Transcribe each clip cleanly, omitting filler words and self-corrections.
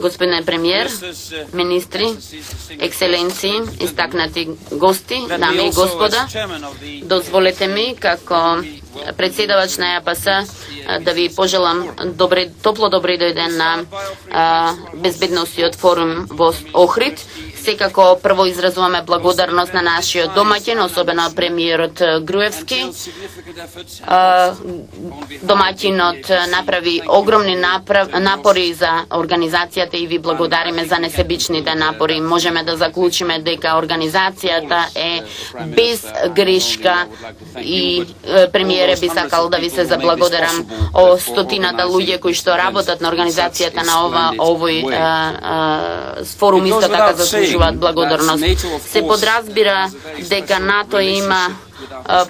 Господине премиер, министри, екселенции, истакнати гости, дами и господа, дозволете ми како председавач на ЕАПС да ви пожелам топло добри дојден на безбедносниот форум во Охрид. Секако прво изразуваме благодарност на нашиот домаќин, особено премиерот Груевски. Домаќинот направи огромни напори за организацијата и ви благодариме за несебичните напори. Можеме да заклучиме дека организацијата е без грешка и премиере би сакал да ви се заблагодарам о стотината луѓе кои што работат на организацијата на овој форум, исто така заслужуваат благодарност. Се подразбира дека НАТО има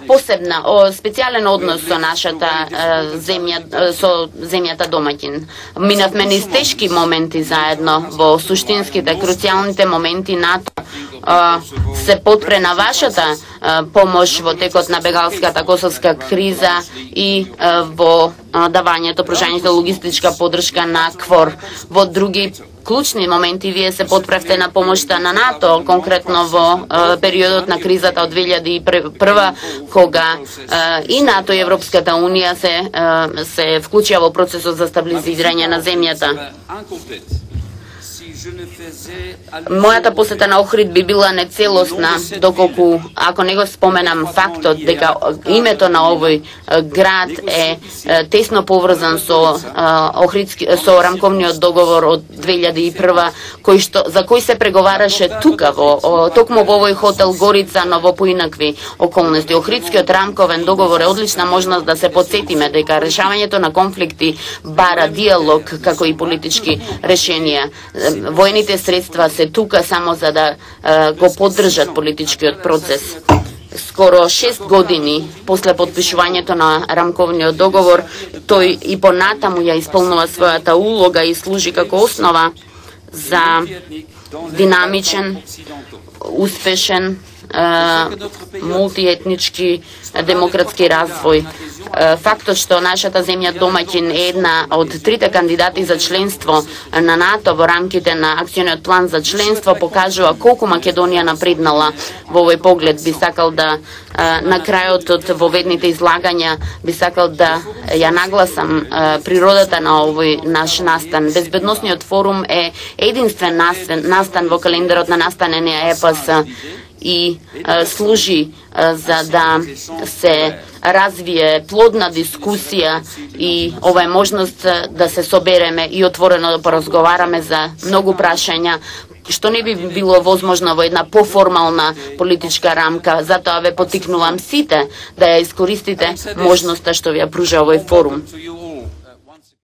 посебна, специјален однос со нашата земја, со земјата домаќин. Минавме низ тешки моменти заедно, во суштинските, круцијалните моменти НАТО се потпре на вашата помош во текот на бегалската косовска криза и во давањето, пружањето логистичка поддршка на КФОР. Во други клучни моменти вие се потпревте на помошта на НАТО, конкретно во периодот на кризата од 2001, кога и НАТО и Европската Унија се вклучија во процесот за стабилизирање на земјата. Мојата посета на Охрид би била нецелосна доколку, ако не го споменам фактот дека името на овој град е тесно поврзан со рамковниот договор од 2001, за кој се преговараше тука токму во овој хотел Горица, но во поинакви околности. Охридскиот рамковен договор е одлична можност да се потсетиме дека решавањето на конфликти бара диалог како и политички решенија. Војните средства се тука само за да го поддржат политичкиот процес. Скоро 6 години после подпишувањето на рамковниот договор, тој и понатаму ја исполнува својата улога и служи како основа за динамичен, успешен, мултиетнички демократски развој. Фактот што нашата земја домаќин е една од трите кандидати за членство на НАТО во рамките на акциониот план за членство покажува колку Македонија напреднала во овој поглед. Би сакал да на крајот од воведните излагања би сакал да ја нагласам природата на овој наш настан. Безбедносниот форум е единствен настан во календарот на настане на ЕАПС и служи за да се развие плодна дискусија и ова е можност да се собереме и отворено да поразговараме за многу прашања што не би било возможно во една поформална политичка рамка. Затоа ве поттикнувам сите да ја искористите можноста што ви ја пружа овој форум.